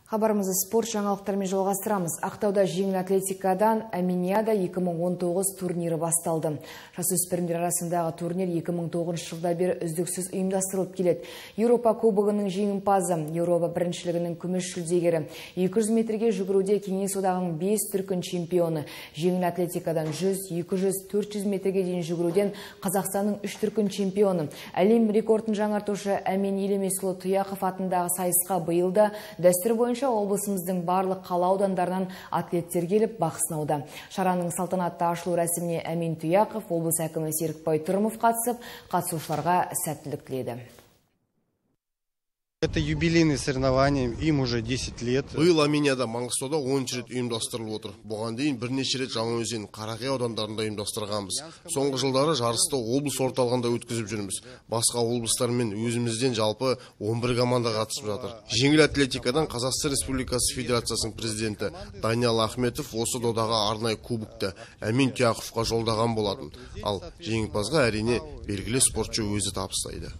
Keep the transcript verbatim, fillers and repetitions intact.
Хабарымызды спорт жаңалықтарымен жалғастырамыз. Ақтауда жеңіл атлетикадан Аминиада екі мың он тоғыз турнирі басталды. Жасөспірімдер арасындағы турнир екі мың тоғызыншы жылда бері үздіксіз ұйымдастырылып келеді. Еуропа кубогының жеңімпазы, Еуропа біріншілігінің күміс жүлдегері, екі жүз метрге жүгіруде Кеңес одағының бес дүркін чемпионы, жеңіл атлетикадан жүз, екі жүз, төрт жүз метрге дейін жүгіруден Қазақстанның үш дүркін чемпионы, әлем рекордын жаңартушы Әмен Елемесұлы Тұяқов атындағы сайысқа биылда дәстүр бойынша облысымыздың барлық қала аудандарынан атлеттер келіп бақ сынауда. Шараның салтанатты ашылу рәсіміне Әмен Тұяқов, облыс әкімі Серікбай Тұрымов қатысып, қатысушыларға сәттілік тіледі. Это юбилейные соревнования, им уже десять лет. Биыл Аминияда Маңғыстауда оныншы рет ұйымдастырылып отыр. Бұған дейін бірнеше рет Жаңаөзен, Қарақия аудандарында ұйымдастырғанбыз. Соңғы жылдары жарысты облыс орталығында өткізіп жүрміз. Басқа облыстармен өзімізден жалпы он бір команда қатысып жатыр. Жеңіл атлетикадан Қазақстан Республикасы Федерациясының президенті Даниял Ахметов осы додаға арнайы кубокты Әмен Тұяқовқа жолдаған болатын. Ал жеңімпазға әрине белгілі спортшы өзі табыстайды.